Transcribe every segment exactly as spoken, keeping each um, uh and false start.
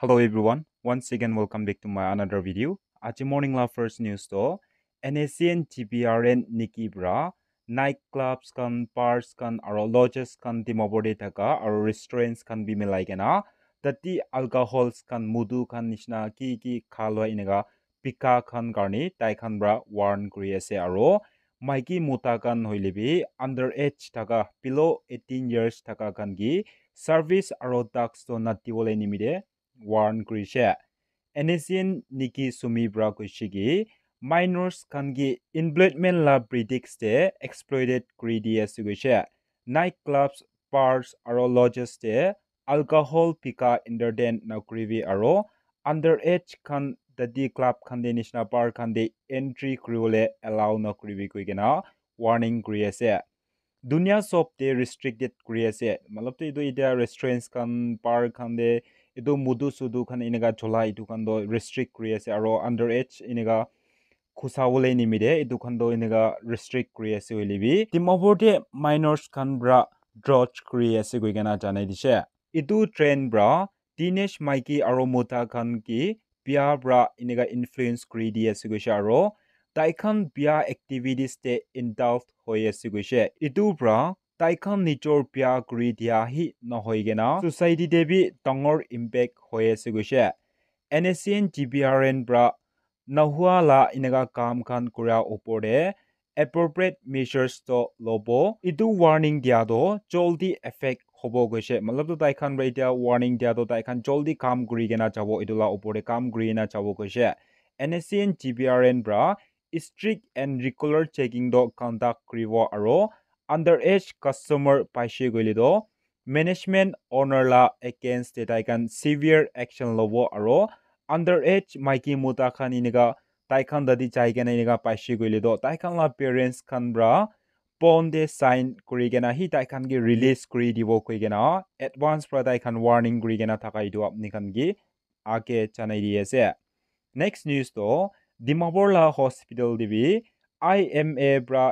Hello everyone, once again welcome back to my another video. Aji morning la first news to N S C N G B R N niki pra night clubs khan, bars khan, aro lodges khan Dimapur te thaka, aro restaurants khan bi milai kena, tati alcohols khan, mudu khan nishina ki ki khalwa ineka bika khan karni tai khan pra warn kuri ase, aro maiki mota khan hoile bi under age thaka, below eighteen years thaka khan ki service aro tax to nati wole nimite warn kurishe. N S C N niki Sumi pra koishe ki minors khan ki employment la pretext te exploited kuri di ase koishe. Night clubs, bars aro lodges te alcohol bika entertain na kuribi aro under age khan tati club khan te nishina bar khan te entry kuri wole allow na kuribi koi kena warning kuri ase. Dunia sob te restricted kuri ase. Matlab tu etu etia restaurants khan, bar khan te etu mudu sudu khan eneka chola etu khan to restrict kuri ase aro under age eneka khusa wole nimite etu khan to eneka restrict kuri ase hoile bi Dimapur te minors khan pra drudge kuri ase koi kena janai dishe. Etu trend pra teenage maiki aro mota khan ki bia pra eneka influence kuri di ase koishe aro tai khan bia activities te involved hoi ase koishe. Etu pra tai khan nijor bia kuri dia hi nohoi kena society te bi dangor impact hoi ase koishe. N S C N G B R N pra nahua la eneka kam khan kura opor te appropriate measures to lobo. Etu warning dia to joldi effect hobo koishe. Matlab tu tai khan pra etia warning dia to tai khan joldi kam kuri kena jabo, etu la opor te kam kuri kena jabo koishe. N S C N G B R N pra strict and regular checking to conduct kuribo aro under age customer paishe koile to management owner la against te tai khan severe action lobo aro under age maiki mota khan eneka tai khan tati jai kena eneka paishe koile to tai khan la parents khan pra bond te sign kuri kena hi tai khan ki release kuri dibo koi kena advance pra tai khan warning kuri kena thaka etu apni khan ki age janai di ase. Next news to Dimapur la hospital te bi I M A pra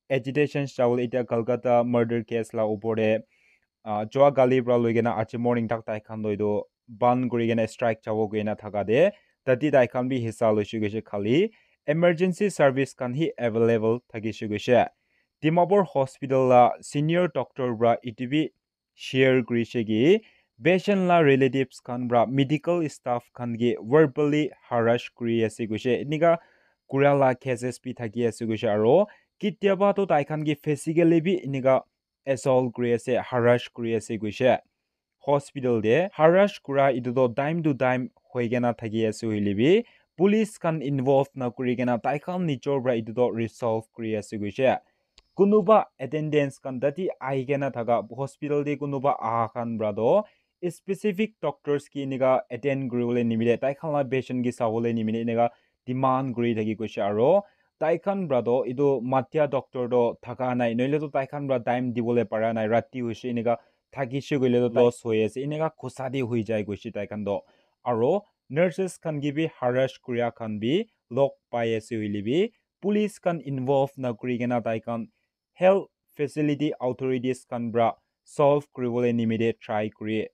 agitation chawole etia Kolkata murder case la opor te, ah, jua kali pra loi kena aji morning tak tai khan to etu ban kuri kena strike chabo koi kena thaka te tati tai khan bi hissa loishe koishe, khali emergency service khan hi available thakishe koishe. Dimapur hospital la senior doctor pra etu bi share kurishe ki patient la relatives khan pra medical staff khan ke verbally harass kuri ase koishe. Enika kura la cases bi thaki ase koishe, aro ketiaba toh tai khan ke physically bi enika assault kuri ase, harass kuri ase koishe. Hospital te harass kura etu toh time to time hoi kena thaki ase hoile bi police khan involve na kuri kena tai khan nijor pra etu toh resolve kuri ase koishe. Kunuba attendance khan tate ahi kena thaka, hospital te kunuba aha khan pra toh specific doctors ke enika attend kuribole nimite, tai khan la patient ke sabole nimite enika demand kuri thaki koishe, aro tai khan pra toh etu matia doctor toh thaka nai, nohoile toh tai khan pra time dibole para nai, rati hoishe enika thakishe koile toh loss hoi ase, enika khusa te hoi jai koishe tai khan toh. Aro nurses khan ke bi harass kuria khan bi log pai ase hoile bi police khan involve na kuri kena tai khan health facility authorities khan pra solve kuribole nimite try kuri.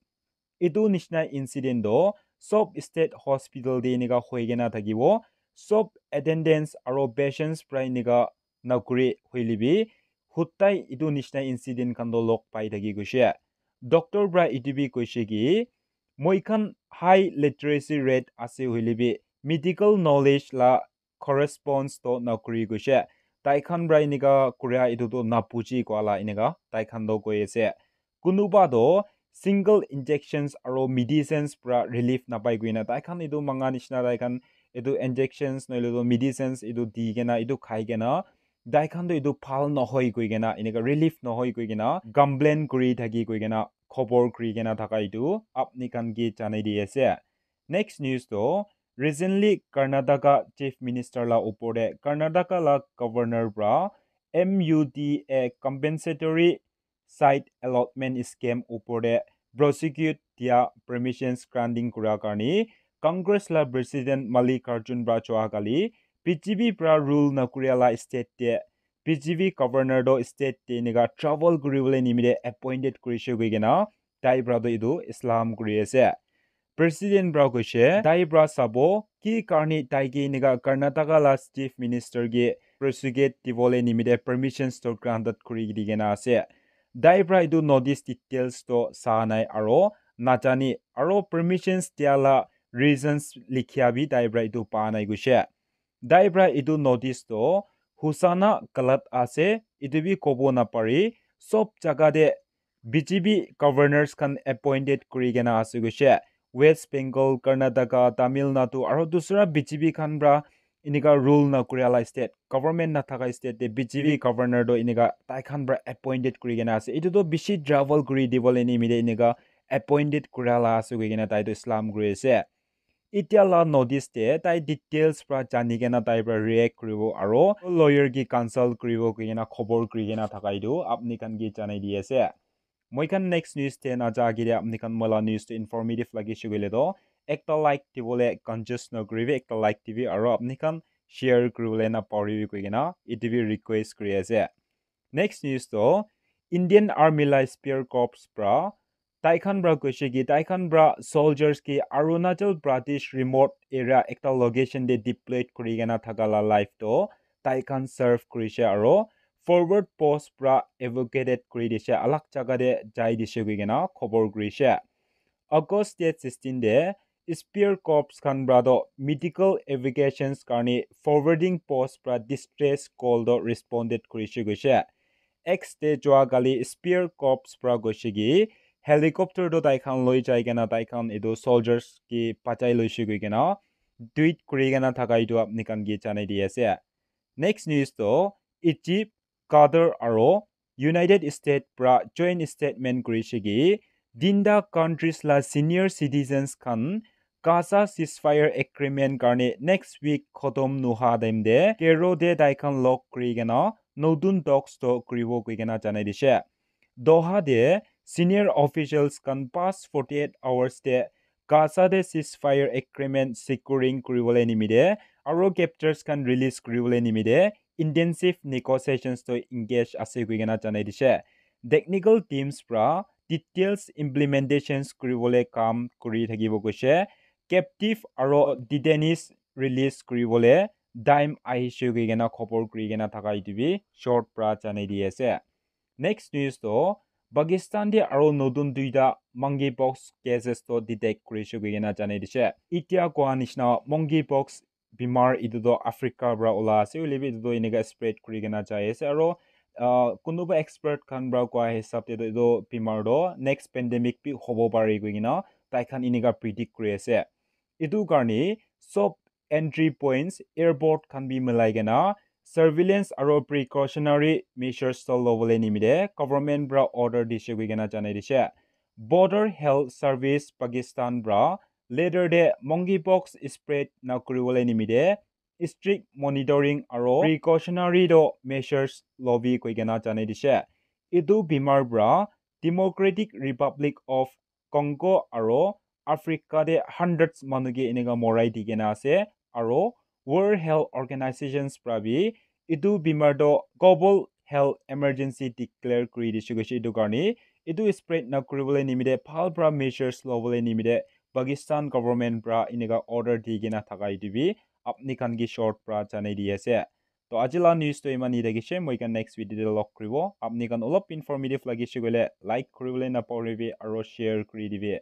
Etu nishina incident toh sob state hospital te enika hoi kena thakibo. Sob attendance aro patients pra enika nakuri hoile bi hudai etu nishina incident khan toh log pai thaki koishe. Doctor pra etu bi koishe ki moi khan high literacy rate ase hoile bi medical knowledge la corresponds toh nakuri koishe. Tai khan pra enika kuria etu toh nabuji koa la enika tai khan toh koi ase. Kunuba toh single injections aro medicines pra relief napai koina tai khan etu manga nishina tai khan etu injections nohoile toh medicines etu di kena etu khai kena tai khan toh etu bhal nohoi koi kena enika relief nohoi koi kena complain kuri thaki koi kena khobor kuri kena thaka etu apni khan ke janai di ase. Next news toh recently Karnataka Chief Minister la upor te Karnataka la Governor pra M U D A compensatory site allotment scheme upor te prosecute dia permissions granting kura karne Congress la President Mallikarjun pra choa kali B J P pra rule nakuria la state te B J P governor toh state te enika travel kuribole nimite appointed kurishe koi kena tai pra toh etu Islam kuri ase. President pra koishe, tai pra sabo, ki karne tai ke enika Karnataka la Chief Minister ke prosecute dibole nimite permissions to granted kuri di kena ase. Tai pra etu notice details to sa nai aro najani, aro permissions dia la reasons likhia bi tai pra etu pa nai koishe. Tai pra etu notice to husa na galat ase, etu bi kobo napari, sob jaga te B J P governors khan appointed kuri kena ase koishe. West Bengal, Karnataka, Tamil Nadu, aro dusra B J P khan pra enika rule na kuria la state, government na thaka state te B J P governor to enika tai khan pra appointed kuri kena ase. Etu to bishi travel kuri dibole nimite enika appointed kuria la ase koi kena tai to slam kuri ase. Itya la notice te tai details pra jani kena tai pra react kuribo aro lawyer ki consult kuribo koi kena khobor kuri kena thaka etu apni khan ki janai di ase. Moi khan next news te naja agi te apni khan moi la news te informative lagi shi koile to ekta like dibole conscious na kuribi, ekta like dibi aro apni khan share kuribole na paribi koi kena etu bi request kuri ase. Next news to Indian Army la Spear Corps pra tai khan pra koishe ki tai khan pra soldiers ki Arunachal Pradesh remote area ekta location te deployed kuri kena thaka la life to tai khan serve kurishe aro forward post pra evacuated kuri dishe, alag jaga te jai dishe koi kena khobor kurishe. August date sixteen te Spear Corps khan pra to medical evacuations karne forwarding post pra distress call to responded kurishe koishe. X te jua kali Spear Corps pra koishe ki helicopter to tai khan loi jai kena tai khan etu soldiers ki bachai loishe koi kena tweet kuri kena thaka etu apni khan ki janai di ase. Next news to Egypt, Qatar aro United States pra joint statement kurishe ki tinta countries la senior citizens khan Gaza ceasefire agreement karne next week khotom nuha time te Cairo te tai khan log kuri kena notun talks to kuribo koi kena janai dishe. Doha te senior officials khan past forty-eight hours te Gaza te ceasefire agreement securing kuribole nimite aro captures khan release kuribole nimite intensive negotiations to engage ase koi kena janai dishe. Technical teams pra details implementations kuribole kam kuri thakibo koishe. Captive aro detainees release kuribole time ahishe koi kena khobor kuri kena thaka etu bi short pra janai di ase. Next news to Pakistan te aro notun duita monkeypox cases to detect kurishe koi kena janai dishe. Itya koa nishina monkeypox bimar etu to Africa pra ula ase, hoile bi etu to enika spread kuri kena jai ase aro uh, kunuba expert khan pra koa hisab te to etu bimar to next pandemic bi hobo pare koi kena tai khan enika predict kuri ase. Etu karne sob entry points, airport khan bi milai kena surveillance aro precautionary measures to lobole nimite government pra order dishe koi kena janai dishe. Border Health Service Pakistan pra letter te monkeypox spread na kuribole nimite strict monitoring aro precautionary to measures lobi koi kena janai dishe. Etu bimar pra Democratic Republic of Congo aro Africa te hundreds manu ke enika morai di kena ase aro World Health Organizations pra bi etu bimar to global health emergency declare kuri dishe koishe. Etu karne etu spread na kuribole nimite bhal pra measures lobole nimite Pakistan government pra enika order di kena thaka etu bi apni khan ki short pra janai di ase. To aji la news to iman hi thakishe, moi khan next video te log kuribo. Apni khan olop informative lagishe koile like kuribole na pahoribi aro share kuri dibi.